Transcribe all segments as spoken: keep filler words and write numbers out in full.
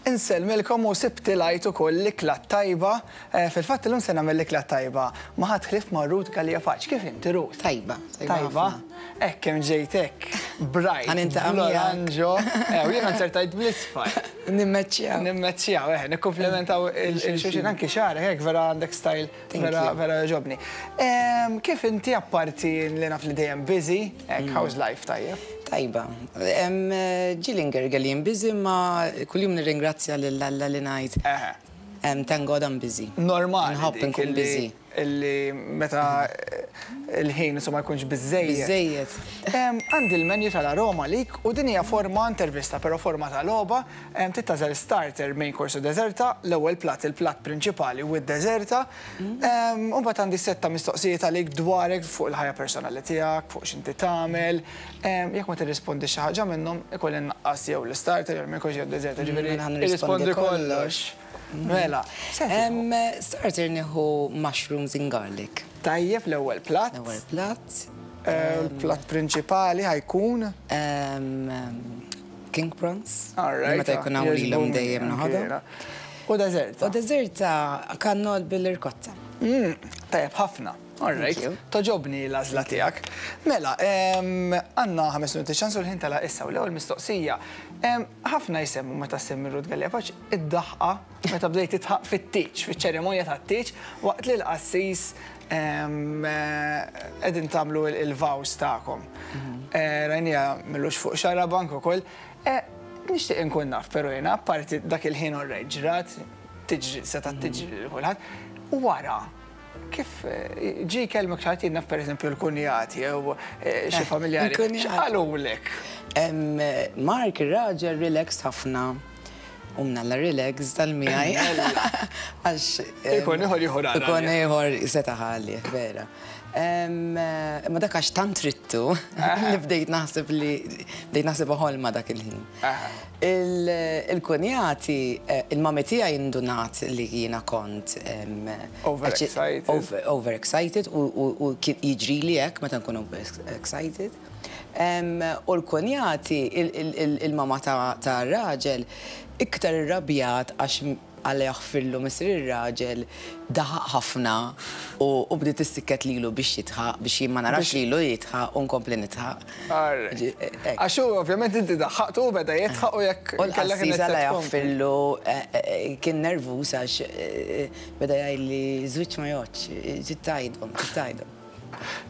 Insellmilkom u sibt il-Għid ukoll l-ikla tajba. Eh, Fil-fatt illum se nagħmel l-ikla tajba ma ħadd ħlief ma' Ruth Galea Pace. Kif inti, Ruth? Tajba. Tajba? Hekk kemm ġejtek. Bright. Ħa niltaqa' Bl-oranġo. Eh, u jiena nzertajt bl-isfar. Nimmeċċjaw. Nimmeċċjaw, eh, nikkomplementaw il-xulxin anki xagħrek, hekk vera għandek style, Thank vera you. vera jogħġobni. Em, Kif inti, apparti li naf li dejjem busy, hekk, how's life, tajjeb? Tajba. Ġieli ngerger li busy, ma kuljum nirringrazzja lil Alla li ngħid. Eħe. Em, Thank God I'm busy. Normali. Nħobb dik nkun illi- busy. Illi meta il-ħin insomma jkunx biżejjed. Biżejjed. Em, Għandi l-menu tal-Aroma lik u din hija forma intervista, però forma tal-logħba. Em, Tagħżel starter, main course u deżerta, l-ewwel plat, il-plat prinċipali u d-deżerta. Em, U mbagħad għandi setta mistoqsijiet għalik dwarek, fuq il-ħajja personali tiegħek, fuq x'inti tagħmel. Em, Jekk ma tirrispondi xi ħaġa minnhom, ikolli nnaqqas jew l-starter jew main course jew d-deżerta, ġifieri Mela ħa nirrispondi irrispondi kollox. Mela, se tieħu? Em, Starter nieħu mushrooms and garlic. Tajjeb, l-ewwel plat. L-ewwel plat. Eh, Il-plat prinċipali ħa jkun? em, em, King prawns. All right. Meta jkun hawn lilhom dejjem noħodhom. U deżerta? U deżerta kannol bil-irkotta. Mm, Tajjeb ħafna. All right. you. Togħġobni l-għażla tiegħek. Mela, em, għandna ħames minuti ċans u l-ħin tela issa u l-ewwel mistoqsija. Em, Ħafna jsemmu meta semmi Ruth Galea Pace id-daħqa meta bdejt tidħaq fit-tieġ, fiċ-ċerimonja tat-tieġ, waqt li l-qassis em, eh, qegħdin tagħmlu il-vows tagħkom. Eh, Rajnija millux fuq Xarabank ukoll. Eh, Nixtieq inkun naf, però jiena, apparti dak il-ħin, orrejt ġrat, tiġri, seta' tiġri lil kulħadd. U wara, kif eh, ġi kelmek xi ħadd, naf pereżempju l-kunjati jew eh, xi familjari, Il-kunjati. x'qalulek? Em, Mark ir-raġel relaxed ħafna. U mnalla relax tal-miegħi. Għax em, Ikun ieħor jieħu rara. Ikun ieħor seta' ħalli, vera. Em, Ma dak għax tant ridtu li bdejt naħseb li bdejt naħseb ħolma dak il-ħin. Aha. Il- Il-kunjati, eh, il-mami tiegħi indunat li jiena kont em, Overexcited. over- Overexcited u- u u kien jiġri li hekk meta nkun overexcited. Em, U l-kunjati, il- il- il- il-mama ta' ta' raġel, iktar irrabjat għax Alla jaħfirlu missier ir-raġel daħaq ħafna u u bdiet issikket lilu biex jidħaq, biex jien ma narax lilu jidħaq u nkompli nidħaq. Alright. Ġi- hekk. Għax hu ovvjament inti daħħaqtu u beda jidħaq u jekk U kellek l-qassis Alla inizjat tkompli. jaħfirlu eh, eh, kien nervus għax eh, beda jgħidli żwieġ ma jgħoddx, trid tgħidhom, trid tgħidhom.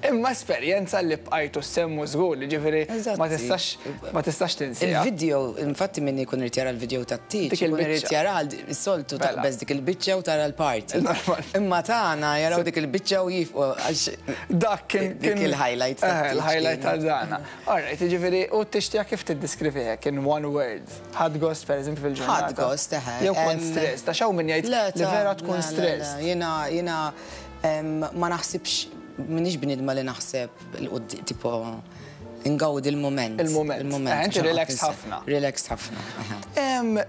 Imma esperjenza li bqajtu semmu żgur li ġifieri ma Eżatti. tistax ma tistax tinsieha. Il-video, infatti min ikun irid jara l-video tat-tieġ, Dik ikun irid il-biċċa. jara s-soltu Mela. taqbeż dik il-biċċa u tara l-party. Normal. Imma tagħna jaraw dik il-biċċa u jifqu għax Dak kien dik kien- il-highlight Eh, tat-tieġ Il-highlight ta' kienet. dana. Alright, ġifieri u t-tixtija kif tiddeskrivi hekk in one word? Ħadt gost pereżempju fil-ġurnata? Ħadt gost, eħe. Jew kont Em, stress, ta' xaw min jgħid Le, li ta' vera tkun le, le, stress. le, Jiena, jiena em, ma naħsibx, m'iniex bniedma li naħseb 'il quddiem, tipo, ingawdi il-moment. Il-moment. Il-moment. Eh, inti mhux relaxed noqgħod ħafna. Relaxed ħafna. eħe. Em,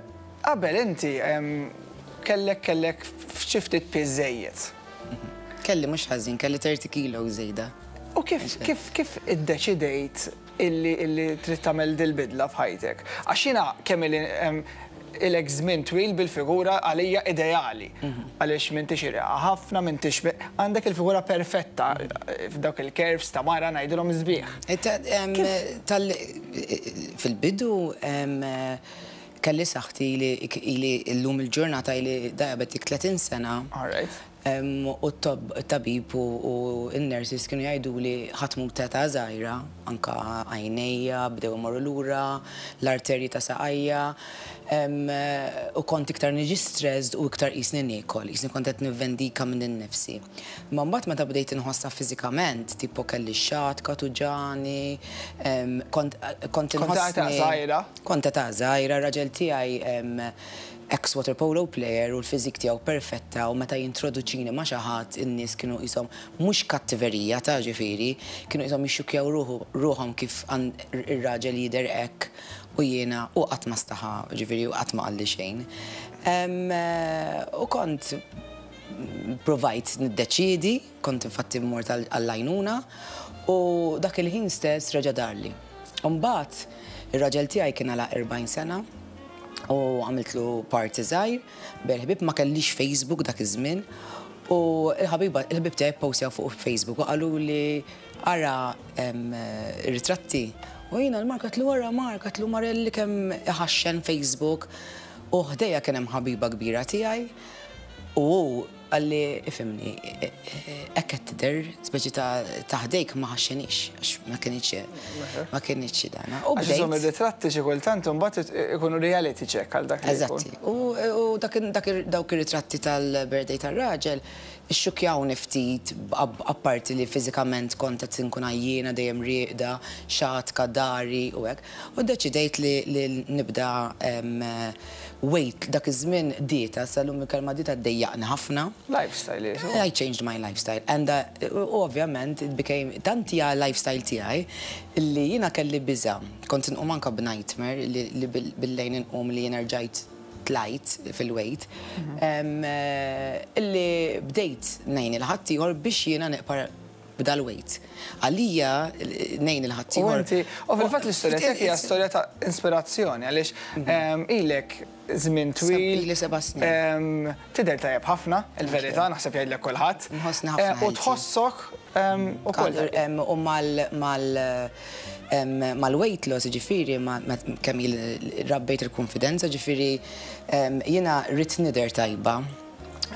Qabel inti em, kellek kellek xi ftit piż żejjed. Kelli mhux ħażin, kelli tletin kilo żejda. U kif kif kif iddeċidejt illi illi trid tagħmel dil-bidla f'ħajtek? Għax jiena kemm ili em, ilek żmien twil bil-figura għalija ideali. Għaliex m'intix irqiqa ħafna, m'intix għandek il-figura perfetta f'dawk il-curves ta' mara ngħidilhom sbieħ. Eh, ta- em, Tal fil-bidu em, kelli saħħti li ili llum il-ġurnata ili diabetic tletin sena. All right. Em, U t-tabib u u n-nurses kienu jgħidu li ħa tmut ta' żgħira, anka għajnejja, bdew imorru lura, l-arterji ta' saqajja, em, u kont iktar niġi stressed u iktar qisni niekol, qisni kont qed nivvendika minn innifsi. Ma mbagħad meta bdejt inħossha fiżikament, tipo kelli xatka tuġani, em, kont kont Kont ta' inħossni. żgħira? Kont ta' żgħira, raġel tiegħi em, ex water polo player u l-fizik tiegħu perfetta u meta jintroduċini ma' xi ħadd in-nies kienu qishom, mhux kattiverija ta' ġifieri, kienu qishom jixxukjaw ruħu- ruħhom kif għan- ir-raġel jidher hekk u jiena u qatt ma staħa, ġifieri, u qatt ma qalli xejn. Em, eh, U kont provajt niddeċidi, kont infatti mort għall-għajnuna u dak il-ħin stess reġa' darli. Mbagħad ir-raġel tiegħi kien għala erbgħin sena U għamiltlu party żgħir, bil-ħbib, ma kellix Facebook dak iż-żmien. U il-ħabiba, il-ħbib tiegħi postjaw fuq Facebook u qalu li ara em, ritratti. U jiena lil Mark għedtlu ara Mark, għedtlu Marelli kemm iħaxxen Facebook. U ħdejja kien hemm ħabiba kbira tiegħi. U hu qalli ifhimni, hekk qed tidher, speċi ta' taħdejk ma ħaxxenix, għax ma kienx ma kienx dana. U Għax insomma bdejt. ir-ritratti xi kultant imbagħad ikunu reality check għal dak li jkun. Eżatti. U, u dak, dak, dawk ir-ritratti tal-birthday tal-raġel xxukkjawni ftit, ab- apparti li fiżikament kont qed inkun għajjiena, dejjem rieqda, xatka, dari u hekk. U deċidejt li, li nibda em, weight dak iż-żmien dieta, sal-lum il-kelma dieta ddejjaqni ħafna. Lifestyle jisu. I changed my lifestyle. And uh, u ovvjament it became tant hija lifestyle tiegħi li jiena kelli biża. Kont inqum anka b'nightmare li, li bil- bil-lejn inqum li jiena rġajt tlajt fil-weight. Em, eh, Illi bdejt ngħin lil ħaddieħor biex jiena neqpa' b'dal-weight. Għalija ngħin U lil ħaddieħor. inti, u fil-fatt l-istorja tiegħek hija storja ta' ispirazzjoni għaliex em, ilek żmien twil. Ili seba' snin. em, Tidher tajjeb ħafna, il-verità, naħseb jgħidlek kulħadd. Nħossni ħafna Eh, U healthy. tħossok em, ukoll. Em, U mal mal em, mal-weight loss, ġifieri, ma ma- kemm il- rabbejt il-konfidenza, ġifieri, em, jiena rrid nidher tajba.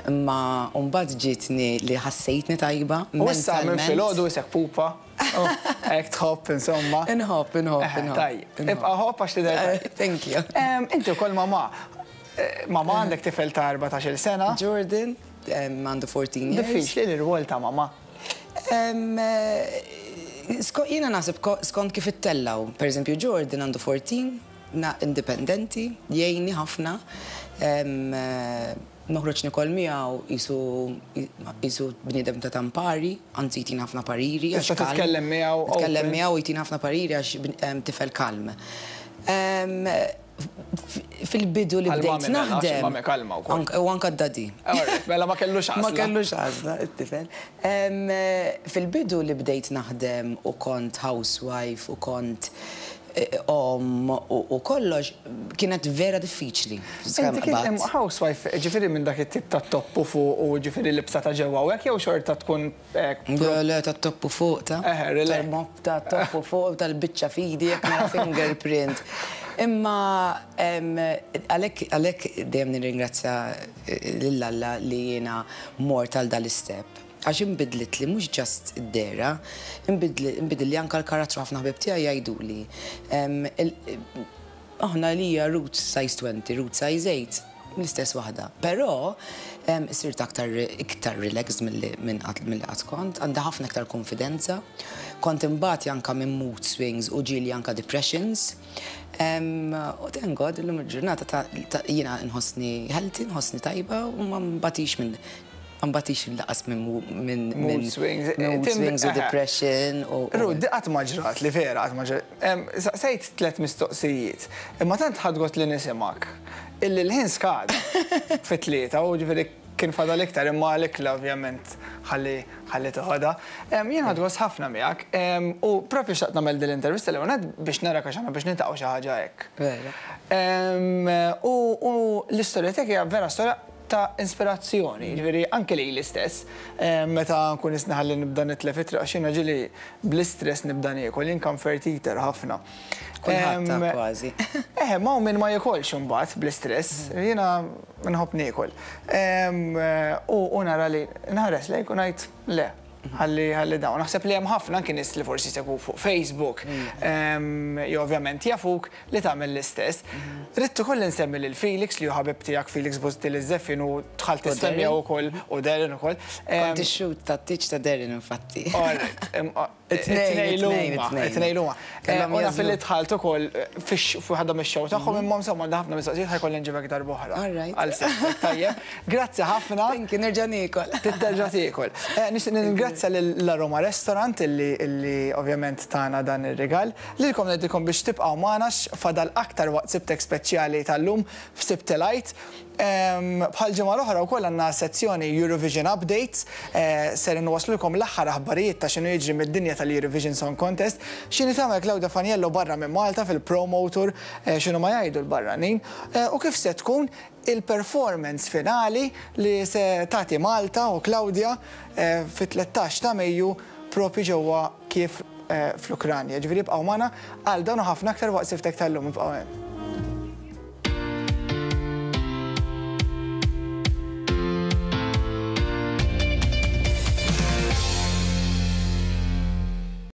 Imma mbagħad ġietni li ħassejtni tajba. U issa minn mentalment. filgħodu isek pupa. Oh, hekk tħobb insomma. Inħobb, inħobb, Eh, inħobb. Tajjeb, inħobb. ibqa' ħobb għax tidher tajjeb. Thank you. Em, Inti wkoll mamà. Eh, Mamà, għandek tifel ta' erbatax-il sena. Jordan, em, għandu fourteen years. Diffiċli l-rwol ta' mamà? Em, eh, sko- Jiena naħseb ko- skont kif ittellaw. Per eżempju, Jordan għandu fourteen, na indipendenti, jgħinni ħafna. Em, eh, Noħroġ nikol miegħu jisu jisu bniedem ta' tampari, anzi jtina ħafna pariri. Għax Tista' kalm. titkellem miegħu Nitkellem open. miegħu, jtina ħafna pariri għax bin- em, tifel kalm. Em, f- Fil-bidu li Għal bdejt mami mela, għax naħdem. il-mami kalma wkoll. Ank- U anka d-daddy. Alright, mela ma kellux għażla. Ma kellux għażla, it-tifel. Em, eh, Fil-bidu li bdejt naħdem u kont housewife u kont eh, om u u kollox, kienet vera diffiċli. Inti kien hemm housewife, ġifieri minn dak it-tip ta' toppu fuq u ġifieri libsa ta' ġewwa u hekk jew xorta tkun hekk? Le, le, ta' toppu fuq ta' Eh, relax. Tal-mop ta' toppu fuq, tal-bicċa fidi, jek nara fingerprint. Imma em, għalek għalek dejjem nirringrazzja eh, lil Alla li jiena mort għal dal-istep. Għax imbidlit li mhux just id-dehra, imbidli anka l-karattru. Ħafna ħbib tiegħi jgħiduli. Em, il- Aħna li hija Ruth size twenty, Ruth size eight, l-istess waħda. Però em, sirt aktar iktar relaxed mill minn qatt mill qatt kont, għandha ħafna iktar konfidenza. Kont imbagħad anka minn mood swings u ġieli anka depressions. Em, U thank God, illum il-ġurnata ta' ta' jiena nħossni healthy, nħossni tajba u ma mbatix minn ma mbatix lanqas minn minn Mood swings. Mood Tim- swings u eh. depression u Ruth, di qatt ma ġrat li vera, qatt ma ġrat. Em, Saqsejt tlet mistoqsijiet, imma tant ħadt gost li nisimak illi l-ħin skad fit-tlieta u ġifieri kien fadal iktar, imma l-ikla ovvjament ħalli ħalli toħodha. Em, Jien ħadt gost ħafna miegħek em, u propju xtaqt nagħmel din l-intervista li għonet biex nara għax aħna biex niltaqgħu xi ħaġa hekk. Vera. Em, U u l-istorja tiegħek hija vera storja ta' ispirazzjoni, ġifieri anke li l-istess, em, meta nkun isnaħalli nibda nitlef it-triq, għax jiena ġieli bl-istress nibda niekol, jien comfort eater ħafna. Kulħadd Em, kważi. Eh, ma hu min ma jikolx imbagħad bl-istress, jiena nħobb niekol. Em, U u nara li nħares lejk u ngħid le. Ħalli ħalli dawn. Naħseb li hemm ħafna anke nies li forsi segwu fuq Facebook, em, jew ovvjament jafuk li tagħmel l-istess. Ridt ukoll insemmi lil Felix li hu ħabib tiegħek, Felix Busuttil iż-żeffien, u dħalt U tissemmiha Darren. Ukoll u Darren ukoll. Em, Kont ix-shoot ta' tiċ ta' Darren infatti. Alright, em, o- It-tnejn, it-tnejn it-tnejn, huma, it-tnejn. it-tnejn huma. Kellhom Eh, U naf jażlu. li dħalt ukoll fix waħda mix-show tagħhom, imma insomma għandha ħafna mistoqsijiet, ħa jkolli nġibek darb'oħra. All right. Għal semmek, tajjeb. Grazzi ħafna. Thank you, nerġa' niekol. Titterġa' tiekol. Eh, Nixtieq ningrazzja lill-Aroma Restaurant illi illi ovvjament tana dan ir-rigal. Lilkom ngħidilkom biex tibqgħu magħna, fadal aktar waqt Sibtek speċjali tal-lum f'Sibt il-Għid. Bħal ġimgħa l-oħra wkoll għandna sezzjoni Eurovision Updates, eh, ser inwaslulkom l-aħħar aħbarijiet ta' x'inhu jiġri mid-dinja tal-Eurovision Song Contest, x'inhi tagħmel Claudia Faniello barra minn Malta fil-promo tour, eh, x'inhu ma jgħidu l-barranin, eh, u kif se tkun il-performance finali li se tagħti Malta u Claudia fit-tlettax ta' Mejju propju ġewwa Kiev fl-Ukranja. Ġifieri ibqgħu magħna għal dan u ħafna aktar waqt Siftek tal-lum, ibqgħu hemm.